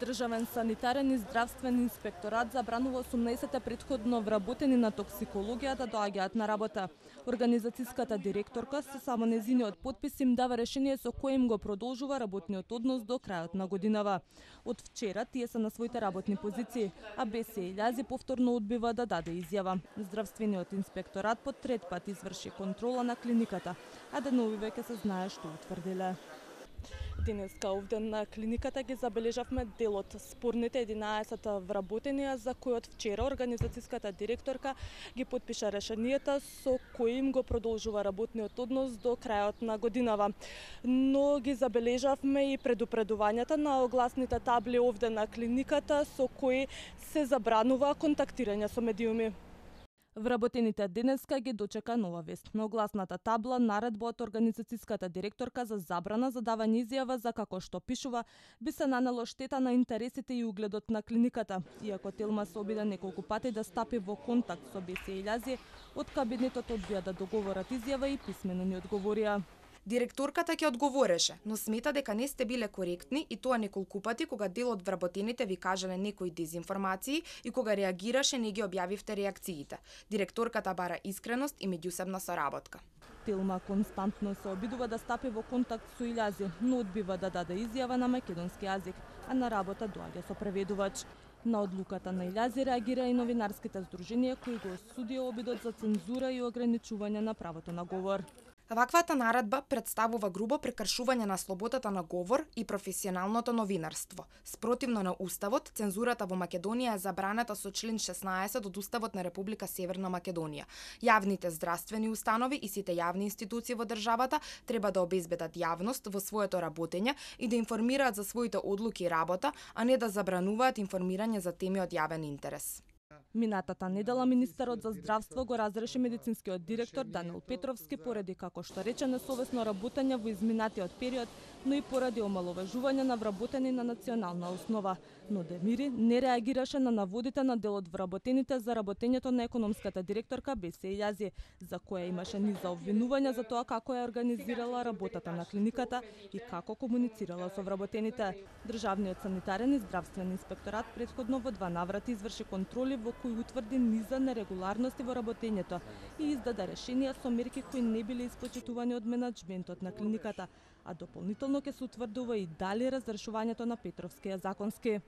Државен санитарен и здравствен инспекторат забранува 18 претходно вработени на токсикологија да доаѓаат на работа. Организацијската директорка со само нејзиниот потпис им дава решение со кое им го продолжува работниот однос до крајот на годинава. Од вчера тие се на своите работни позиции, а БС Илјази повторно одбива да даде изјава. Здравствениот инспекторат по трет пат изврши контрола на клиниката, а деновиве ќе се знае што утврдиле. Денеска овде на клиниката ги забележавме дел од спорните 11 вработенија за кои од вчера организацијската директорка ги потпиша решенијата со кои им го продолжува работниот однос до крајот на годинава. Но ги забележавме и предупредувањата на огласните табли овде на клиниката со кои се забранува контактирање со медиуми. Вработените денеска ги дочека нова вест. На огласната табла наредба од организацијската директорка за забрана за давање изјава за како што пишува би се нанело штета на интересите и угледот на клиниката. Иако Телма се обиде неколку пати да стапи во контакт со БС Илјази, од кабинетот одбија да договорат изјава и писмено ни одговорија. Директорката ќе одговореше, но смета дека не сте биле коректни и тоа неколку пати кога дел од вработените ви кажале некои дезинформации и кога реагираше не ги објавивте реакциите. Директорката бара искреност и меѓусебна соработка. Телма константно се обидува да стапи во контакт со Илјази, но одбива да даде изјава на македонски јазик, а на работа доаѓа со преведувач. На одлуката на Илјази реагира и новинарските здруженија кои го осудија обидот за цензура и ограничување на правото на говор. Ваквата наредба представува грубо прекршување на слободата на говор и професионалното новинарство. Спротивно на Уставот, цензурата во Македонија е забраната со член 16 од Уставот на Република Северна Македонија. Јавните здравствени установи и сите јавни институции во државата треба да обезбедат јавност во своето работење и да информираат за своите одлуки и работа, а не да забрануваат информирање за теми од јавен интерес. Минатата недела министерот за здравство го разреши медицинскиот директор Даниел Петровски поради, како што рече, несовесно работење во изминатиот период, но и поради омаловажување на вработени на национална основа. Но Демири не реагираше на наводите на дел од вработените за работењето на економската директорка БС Илјази, за која имаше низ за обвинувања за тоа како ја организирала работата на клиниката и како комуницирала со вработените. Државниот санитарен и здравствен инспекторат претходно во 2 наврати изврши контроли во кои утврди низ за нерегуларности во работењето и издаде решенија со мерки кои не биле испочитувани од менаџментот на клиниката, а дополнително ќе се утврдува и дали разрешувањето на Петровски е законски.